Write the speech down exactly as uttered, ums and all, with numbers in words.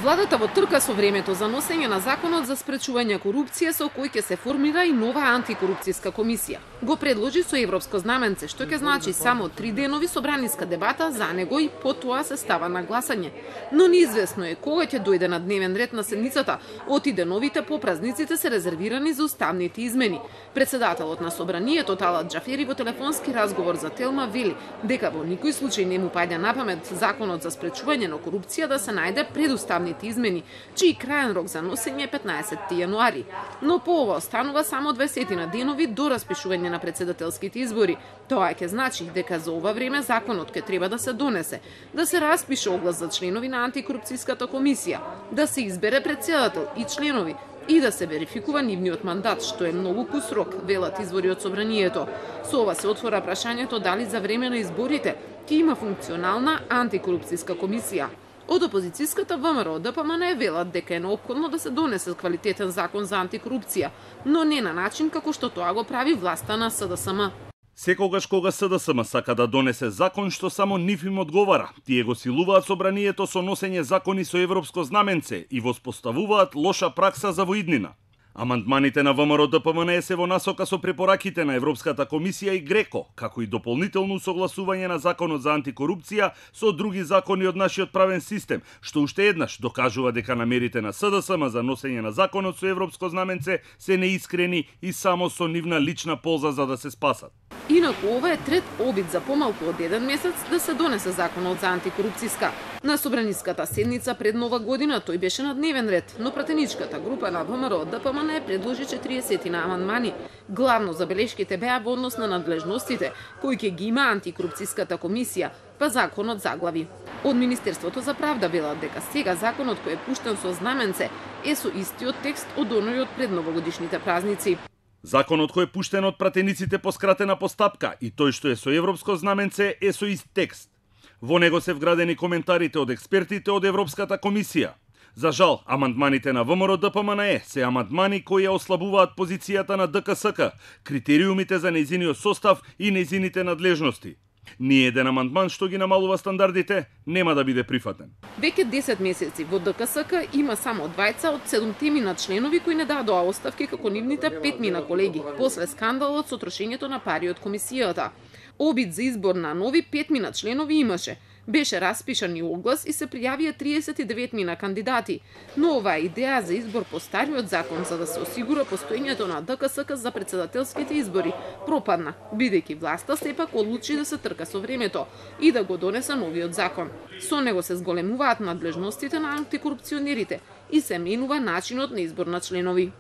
Владата во трка со времето за носење на законот за спречување корупција со кој ќе се формира и нова антикорупцијска комисија. Го предложи со европско знаменце, што ќе значи само три денови собраниска дебата за него и потоа се става на гласање. Но неизвестно е кога ќе дојде на дневен ред на седницата, оти деновите по празниците се резервирани за уставните измени. Председателот на собранието Талат Џафери во телефонски разговор за Телма вели дека во никој случај не му паѓа на памет законот за спречување на корупција да се најде пред уставните измени, чиј крајен рок за носење е петнаесетти јануари. Но по ова останува само дваесет денови до распишување на председателските избори. Тоа ќе значи дека за ова време законот ќе треба да се донесе, да се распише оглас за членови на антикорупцијската комисија, да се избере председател и членови и да се верификува нивниот мандат, што е многу кус рок, велат извори од собранието. Со ова се отвора прашањето дали за време на изборите ќе има функционална антикорупцијска комисија. Од опозицијската ВМРО ДПМН велат дека е неопходно да се донесе квалитетен закон за антикорупција, но не на начин како што тоа го прави власта на СДСМ. Секогаш кога СДСМ сака да донесе закон што само нив им одговара, тие го силуваат собранието со носење закони со европско знаменце и воспоставуваат лоша пракса за воиднина. Амандманите на ВМРО ДПМН се во насока со препораките на Европската комисија и Греко, како и дополнително согласување на законот за антикорупција со други закони од нашиот правен систем, што уште еднаш докажува дека намерите на СДСМ за носење на законот со европско знаменце се неискрени и само со нивна лична полза за да се спасат. Инаку ова е трет обид за помалку од еден месец да се донесе законот за антикорупцијска. На собраниската седница пред Нова година тој беше на дневен ред, но пратеничката група на ВМРО ДПМН предложи четириесет на амандмани. Главно забелешките беа во однос на надлежностите кои ќе ги има антикорупцијската комисија, па законот заглави. Од Министерството за правда велат дека сега законот кој е пуштен со знаменце е со истиот текст од оној од пред новогодишните празници. Законот кој е пуштен од пратениците по скратена постапка и тој што е со европско знаменце е со ист текст. Во него се вградени коментарите од експертите од Европската комисија. За жал, амандманите на ВМРО ДПМН се амандмани кои ја ослабуваат позицијата на ДКСК, критериумите за нејзиниот состав и нејзините надлежности. Ни еден амандман што ги намалува стандардите нема да биде прифатен. Веќе десет месеци во ДКСК има само двајца од седумте мина членови кои не дадоа оставки како нивните пет мина колеги, после скандалот со трошењето на пари од комисијата. Обид за избор на нови пет мина членови имаше. Беше распишан и оглас и се пријавија триесет и девет мина кандидати. Но оваа идеја за избор по стариот закон за да се осигура постоењето на ДКСК за председателските избори пропадна, бидејќи власта сепак одлучи да се трка со времето и да го донесе новиот закон. Со него се зголемуваат надлежностите на антикорупционерите и се менува начинот на избор на членови.